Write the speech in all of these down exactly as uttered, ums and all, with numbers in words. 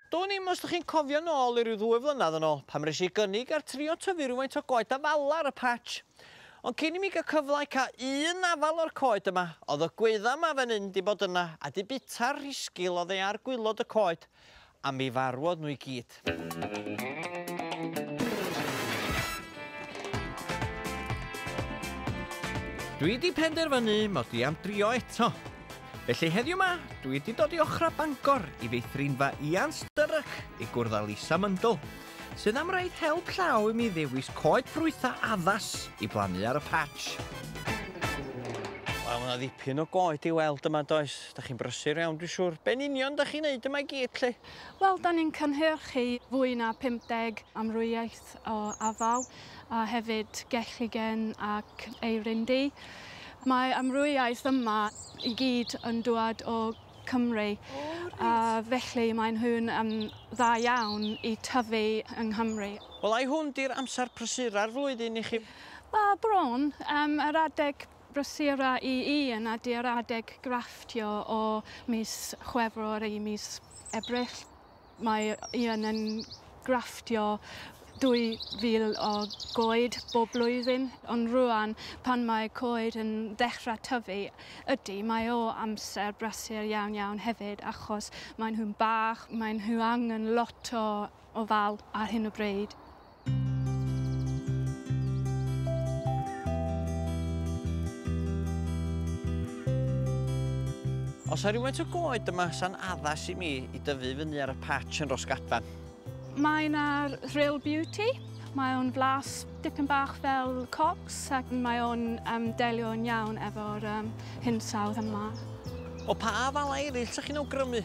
Do'n i'm os ydych chi'n cofio nôl i ryw ddwy flynedd yn ôl, pam nes i gynnig ar trio tyfu rhywfaint o goed afala ar y patch. Ond cyn i mi gael cyfle i cael un afal o'r coed yma, oedd y gwydda yma fan hyn di bod yna a di bita'r rhisgil oedd ei ar gwylod y coed, a mi farwodd nhw i gyd. Dwi di penderfynu mod i am drio eto. Felly heddiw 'ma, dwi wedi dod i ochra Bangor i feithrinfa Ian Sturrock i gwrdd â Lisa Mundle, sydd am roid help llaw i mi ddewis coed ffrwytha addas i blannu ar y patch. Wel, ma' 'na ddipyn o goed i weld yma, does? Da chi'n brysur iawn, dwi'n siŵr. Be'n union da chi'n neud yma i gyd, lly? Wel, da ni'n cynhyrchu fwy na pump deg amrywiaeth o afal, a hefyd gelligen ac eirin du. Mae amrywiaeth yma i gyd yn dŵad o Cymru, O, reit. a felly mae nhw'n um, dda iawn i tyfu yng Nghymru. Wel, ai hwn di'r amser prysura'r flwyddyn i chi? Wel, bron, um, yr adeg brysura i Ian ydy'r adeg grafftio o mis Chwefror i mis Ebrill. Mae Ian yn grafftio dwy fil o goed bob blwyddyn, ond rŵan pan mae coed yn dechrau tyfu, ydy, mae o amser brysur iawn iawn hefyd, achos maen nhw'n bach, maen nhw angen lot o ofal ar hyn o bryd. Oes 'na rywfaint o goed yma sa'n addas i mi i dyfu fyny ar y patch yn Rosgadfan? Mae yna'r Rhyl Beauty. Mae o'n flas dipyn bach fel cocs ac mae o'n um, delio'n iawn efo'r um, hinsawdd yma. O pa afala eraill ydych chi'n awgrymu?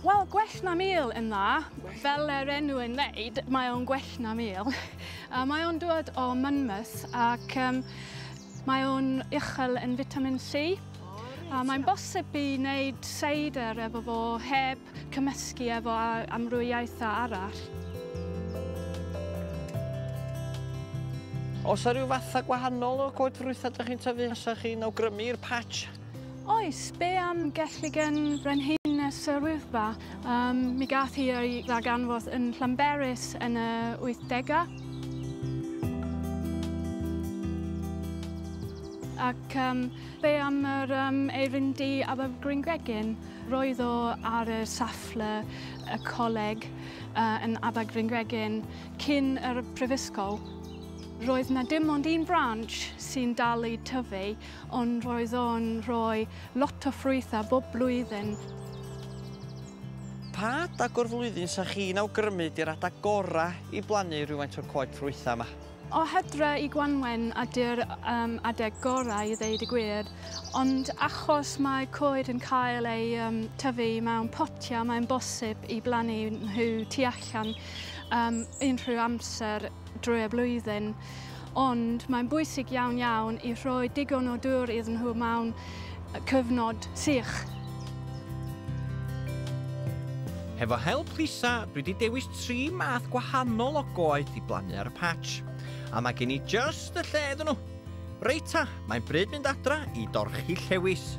Wel, gwell na mil yn dda. Fel yr enw yn ddeud, mae o'n gwell na mil. A mae o'n dod o Monmouth ac um, mae o'n uchel yn vitamin C. A mae'n bosib i wneud seidr efo fo heb cymysgu efo amrywiaethau arall. Oes 'na ryw fatha gwahanol o goed ffrwytha ydych chi'n tyfu? Os ydych chi'n awgrymu i'r patch? Oes, be am gelligen Brenhines yr Wyddfa? Um, mi gath hi ei ddarganfod yn Llanberis yn y wythdegau. Ac um, be am yr um, eirin du Abergwyngregyn? Roedd o ar y safle y coleg uh, yn Abergwyngregyn cyn yr prifysgol. Roedd na dim ond un branch sy'n dal i tyfu, ond roedd o'n rhoi lot o ffrwythau bob blwyddyn. Pa adag o'r flwyddyn sa chi'n awgrymu di'r adag gora i blannu rhywfaint o'r coed ffrwythau yma? O hydre i Gwanwyn ydy'r um, adeg gorau i ddeud y gwir, ond achos mae coed yn cael ei um, tyfu mewn potiau, mae'n bosib i blannu nhw tu allan um, unrhyw amser drwy y blwyddyn. Ond mae'n bwysig iawn iawn i rhoi digon o dŵr iddyn nhw mewn cyfnod sych. Hefo help Lisa, dwi wedi dewis tri math gwahanol o goed i blannu ar y patch. A mae gen i just y lle iddyn nhw. Reit ta, mae'n bryd mynd adra i dorchi llewis.